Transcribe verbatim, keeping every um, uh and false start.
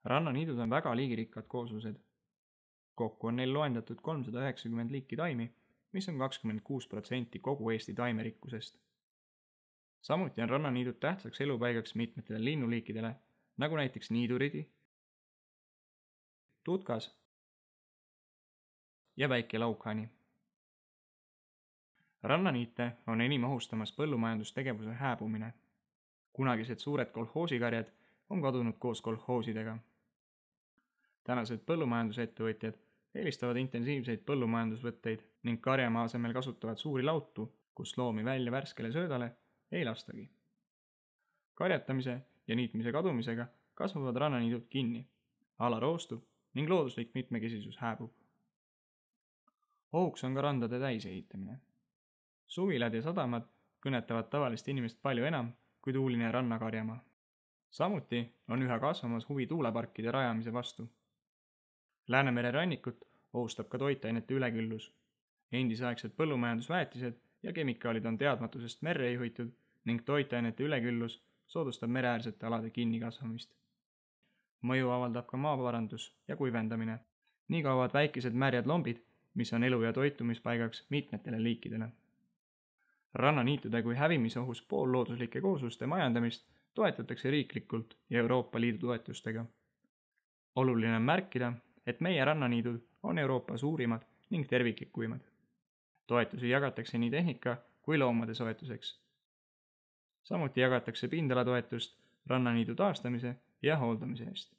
Rannaniidud on väga liigirikkad kooslused. Kokku on neil loendatud kolmsada üheksakümmend liiki taimi, mis on kakskümmend kuus protsenti kogu Eesti taimerikkusest. Samuti on rannaniidud tähtsaks elupaigaks mitmetele linnuliikidele, nagu näiteks niiduridi, tutkas ja väike laukhani. Rannaniite on enim ohustamas põllumajandustegevuse hääbumine. Kunagised suured kolhoosikarjad on kadunud koos kolhoosidega. Tänased põllumajandusettevõtjad eelistavad intensiivseid põllumajandusvõtteid ning karjamaa asemel kasutavad suuri lautu, kus loomi välja värskele söödale ei lastagi. Karjatamise ja niitmise kadumisega kasvavad rannaniidud kinni, ala roostub ning looduslik mitmekesisus hääbub. Ohuks on ka randade täisehitamine. Suvilad ja sadamad kõnetavad tavalist inimest palju enam kui tuuline rannakarjamaa. Samuti on üha kasvamas huvi tuuleparkide rajamise vastu. Läänemere rannikut ohustab ka toitainete üleküllus. Endisaegsed põllumajandusväetised ja kemikaalid on teadmatusest merre juhitud ning toitainete üleküllus soodustab mereäärsete alade kinnikasvamist. Mõju avaldab ka maaparandus ja kuivendamine. Nii kaovad väikesed märjad lombid, mis on elu- ja toitumispaigaks mitmetele liikidele. Rannaniitude kui hävimisohus poollooduslike koosluste majandamist toetatakse riiklikult ja Euroopa Liidu toetustega. Oluline on märkida, et meie rannaniidud on Euroopa suurimad ning terviklikuimad. Toetusi jagatakse nii tehnika kui loomade soetuseks. Samuti jagatakse pindalatoetust rannaniidu taastamise ja hooldamise eest.